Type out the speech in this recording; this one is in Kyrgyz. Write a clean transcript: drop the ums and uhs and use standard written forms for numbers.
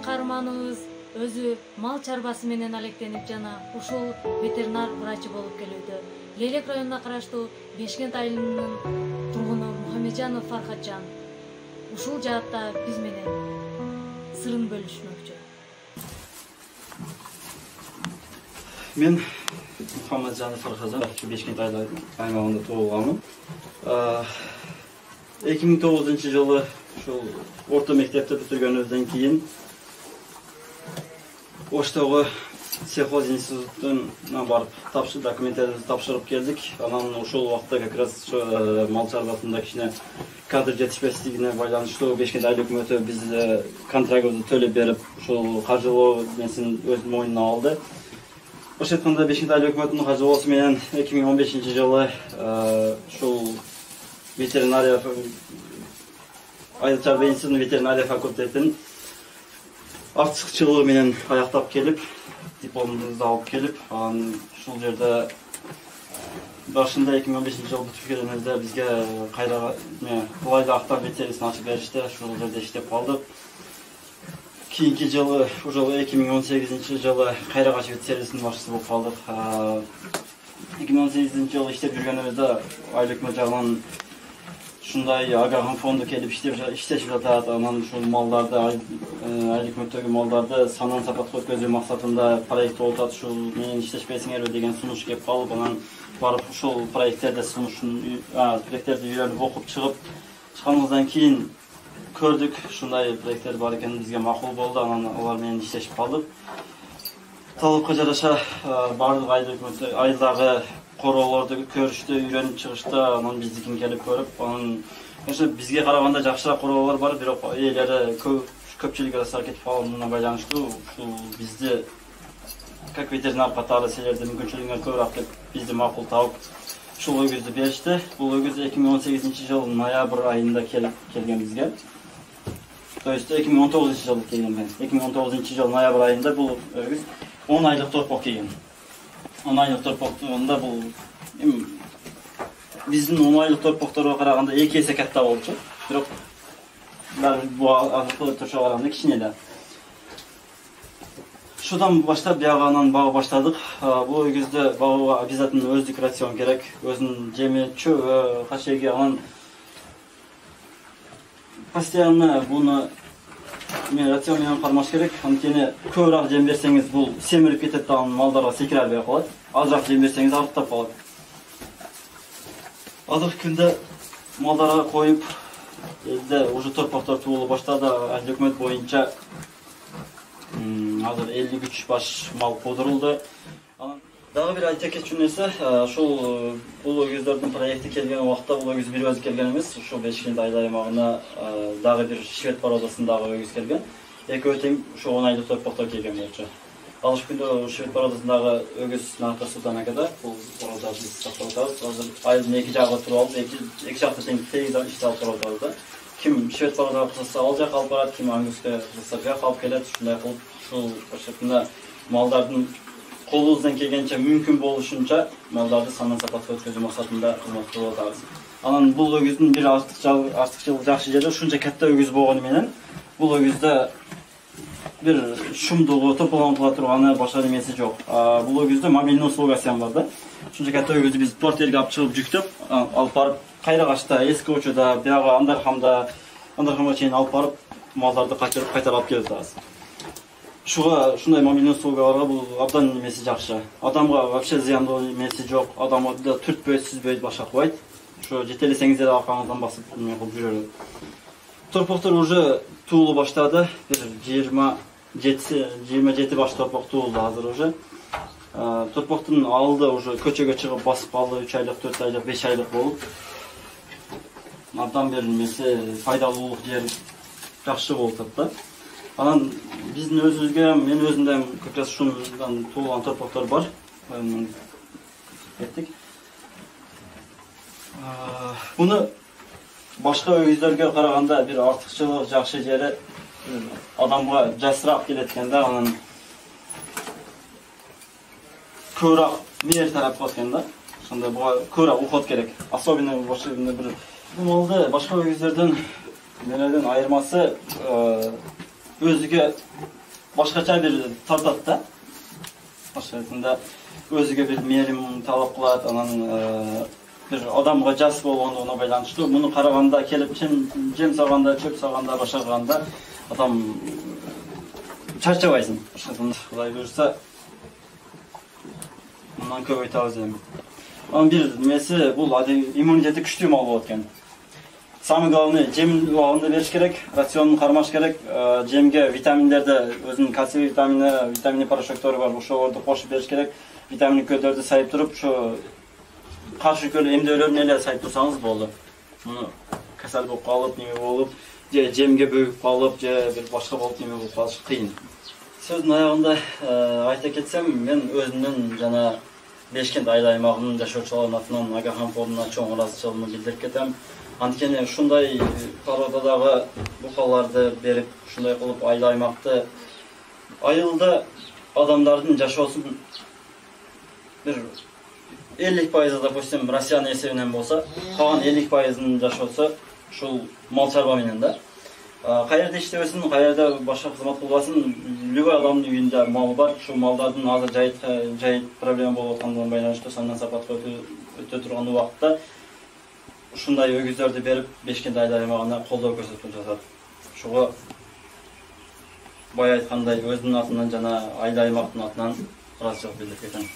каарманыбыз өзү мал чарбасы менен алектенип жана ушул ветеринар врачы болуп келүүдө. Лелек районуна караштуу Бешкент айылынын тургуну Мухамеджанов Фархатжан ушул жаатта биз менен сырын бөлүшмөкчү. Мен Мухамеджанов Фархатжан, Бешкент аймагында туулганмын. 2009-жылы ушул орто мектепти бүтүргөнүбүздөн кийин Оштогу сельхоз институтуна барып документтерибизди тапшырып келдик. Анан ушул убакта как раз мал чарбасында кичине кадр жетишпестигине байланыштуу Бешкент айыл өкмөтү бизде контрактыбызды төлөп берип, ушул каржылоо несин өз мойнуна алды. Ошо айтканда Бешкент айыл өкмөтүнүн каржылоосу менен 2015-жылы ушул ветеринария айыл чарба институтунун ветеринария факультетин артыкчылыгы менен аяктап келип, дипломубузду алып келип, анан ушул жерде башында 2015-жылы бүтүп келгенибизде бизге кайра Кулайды Актар лицейсин ачып беришти. Ушул жерде иштеп калдык. Кийинки жылы, ушул 2018-жылы Кайрагаш ветсервисинин башчысы болуп калдык. 2018-жылы иштеп жүргөнүбүздө айыл өкмөт жагынан ушундай агрохом фонду келип иштешип жатат. Анан ушул малдарды, айыл өкмөттөгү малдарды санын сапатка өткөзүү максатында проект болуп атат. Ушул менен иштешпесиңерби деген сунуш келип калып, анан барып ушул проекттерди үйрөнүп окуп чыкканыбыздан кийин көрдүк, ушундай проекттер бар экени бизге макул болду. Анан алар менен иштешип калдык. Талапка жараша бардык айылдагы короолорду көрүштү, үйрөнүп чыгышты. Анан биздикин келип көрүп, анан ошо бизге караганда жакшыраак короолор бар, бирок ээлери көпчүлүк арасында кетип калганына байланыштуу ушул бизди как ветеринар катары силердин мүмкүнчүлүгүңөр көбүрөөк деп бизди макул табып ушул өгүздү беришти. Бул өгүз 2018-жылы ноябрь айында келген бизге. То есть 2019-жылы келген мен. 2019-жылы ноябрь айында бул өгүз 10 айлык торпок келген. 10 айлык торпокта бул биздин 10 айлык торпокторго караганда 2 эсе катта болчу. Бирок бул азыктуу турушуга караганда кичине да. Шудан баштап биягынан багы баштадык. Бул өгүздө багууга обязательно өздүк рацион керек. Өзүнүн жеми, чөбү, кашеги, анан постоянно буну рацион менен кармаш керек. Анткени көбүрөөк жем берсеңиз бул семирип кетет, анан малдарга секире албай калат. Азыраак жем берсеңиз арыктап калат. Азыркы күндө малдарга коюп, элде уже торпоктор туулу баштады. Айыл өкмөт боюнча азыр 53 баш мал куудурулду. Анан дагы бир айта кетчү нерсе, ушул бул өгүздөрдүн проекти келген убакта бул өгүз бир өзү келген эмес. Ушул Бешкент айыл аймагына дагы бир швед породасындагы өгүз келген. Экөө тең ушул 10 айлык торпоктор келген болчу. Алыш күндө швед породасындагы өгүз Нарта Султан акада бул породаны биз сактап атабыз. Азыр айылдын эки жагы туруп алып, эки жакта тең тегиз ишти алып туруп атабыз. Ким швед породага кызыкса ал жака алып барат, ким ангуска кызыкса бияка алып келет. Ушундай кылып ушул ошондо малдардын колубуздан келгенче мүмкүн болушунча малдарды санын сапатка өткөзүү максатында кызмат кылып атабыз. Анан бул өгүздүн бир артыкчылыгы жакшы жери ушунча катта өгүз болгону менен бул өгүздө бир шумдугу, тополонула турганы башка немеси жок. Бул өгүздө мобилдүү услугасы бар да. Ушунча катта өгүздү биз портелге алып чыгып жүктөп, алып барып Кайрагашта, Эски Учуда, бияга Андархамга чейин алып барып малдарды кайтарып алып келип атабыз. Ушундай мобилдүү услугаларга бул абдан немеси жакшы. Адамга вообще зыяндуу немеси жок. Адамды түртпөйт, сүзбөйт, башка кылбайт. Ошо жетелесеңиздер аркаңыздан басып эме кылып жүрөт. Торпоктор уже туулу баштады. Бир 27 баш торпок туулду азыр уже. Торпоктун алды уже көчөгө чыгып басып калды, 3 айлык, 4 айлык, 5 айлык болуп. Абдан бир немеси пайдалуулук жери жакшы болуп атат да. Анан биздин өзүбүзгө, мен өзүмдө как раз ушундан туулган торпоктор бар. Кеттик. Буну башка өгүздөргө караганда бир артыкчылык жакшы жери адамга жасыраак келет экен да, анан көбүрөөк мээр тарап калат экен да. Ошондой буга көбүрөөк уход керек. Особенно бир бул малды башка өгүздөрдөн менен айырмасы өзүгө башкача бир тартат да. Башка айтқанда өзүгө бир мээрим талап кылат, анан бир адамга жас болгондугуна байланыштуу. Муну караганда келип жем саганда, чөп саганда, башкарганда адам чарчабайсың. Кудай буюрса мындан көбөйтөбүз эми. Анан бир немеси бул иммунитети күчтүү мал болот экен. Самый главный жем убагында бериш керек, рационун кармаш керек. Жемге витаминдерди, өзүнүн кальций витамини порошоктору бар, ошолорду кошуп бериш керек. Витаминдик көдөрдү сайып туруп, ошо каршы көрө эмдөөлөрүн эле сайып турсаңыз болду. Муну касал болуп калып, неме болуп, же жемге бөгүп калып, же бир башка болуп неме болуп калыш кыйын. Сөздүн аягында айта кетсем, мен өзүмдүн жана Бешкент айыл аймагынын жашоочуларынын атынан Агахан форумуна чоң ыраазычылыгымды билдирип кетем. Анткени ушундай породадагы букаларды берип, ушундай кылып айыл аймакты айылда адамдардын жашоосун бир 50% допустим Россиянын эсебинен болса, калган 50%-ын жашоосу ушул мал чарба менен да. Каерде иштебесин, каерде башка кызмат кылбасын, любой адамдын үйүндө мал бар. Ушул малдардын азыр жайыт проблема болуп аткандыгына байланыштуу сандан сапатка өтө турган убакытта ушундай өгүздөрдү берип, Бешкент айыл аймагына колдоо көрсөтүп жатат. Ошого бай айткандай өзүнүн атынан жана айыл аймактын атынан ыраазычылык билдирип кетем.